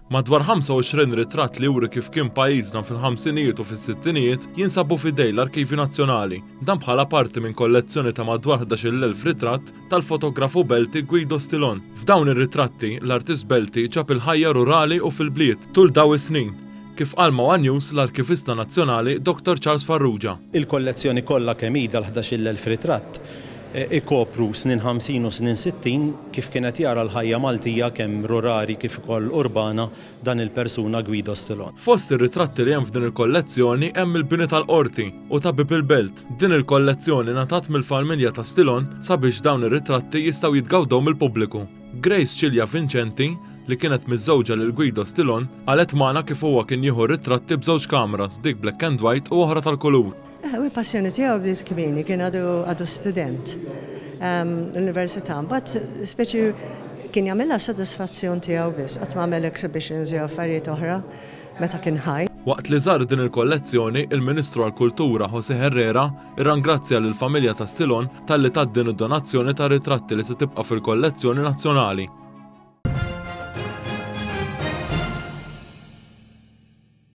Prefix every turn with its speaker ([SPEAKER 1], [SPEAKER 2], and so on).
[SPEAKER 1] Madwar 25 ritratt li juri kif kien pajjiżna fil-ħamsinijiet u fis-sittinijiet jinsabu f'idej l-Arkivju Nazzjonali. Dan bħala parti minn kollezzjoni ta' madwar 11,000 ritratt tal-fotografu Belti Guido Stilon. F'dawn ir-ritratti, l-artist Belti ġab il-ħajja rurali u fil-bliet tul daw is-snin, kif qal ma' one News l-Arkivista Nazzjonali Dottor Charles Farrugia.
[SPEAKER 2] Il-kollezzjoni kollha kemm hi dal-11,000 ritratt ikopru snin 50 u snin 60 kif kienet jara l-ħajja Maltija kemm rurali kif ukoll urbana dan il-persuna Guido Stilon.
[SPEAKER 1] Fost ir-ritratti li hemm f'din il-kollezzjoni hemm il-bini tal-Qorti u ta' Bieb il-Belt. Din il-kollezzjoni ngħatat mill-familja ta' Stilon sabiex dawn ir-ritratti jistgħu jitgawdew mill-pubbliku. Grace Cilia Vincenti, li kienet miżżewġa lil Guido Stilon, qalet magħna kif huwa kien jieħu r-ritratti b'żewġ kameras, dik black and white u oħra tal-kulur.
[SPEAKER 3] U l-passjoni tiegħu bdiet kmieni, kien għadu għadu student l-università. Mbagħad speċi kien jagħmilha sodisfazzjon tiegħu biss, qatt ma għamel exhibitions jew affarijiet oħra meta kien ħaj.
[SPEAKER 1] Waqt li żar din il-kollezzjoni, il-Ministru għall-Kultura José Herrera irrangrazzja lill-familja ta' Stilon talli tat din id-donazzjoni ta' ritratti li se tibqa' fil-kollezzjoni nazzjonali.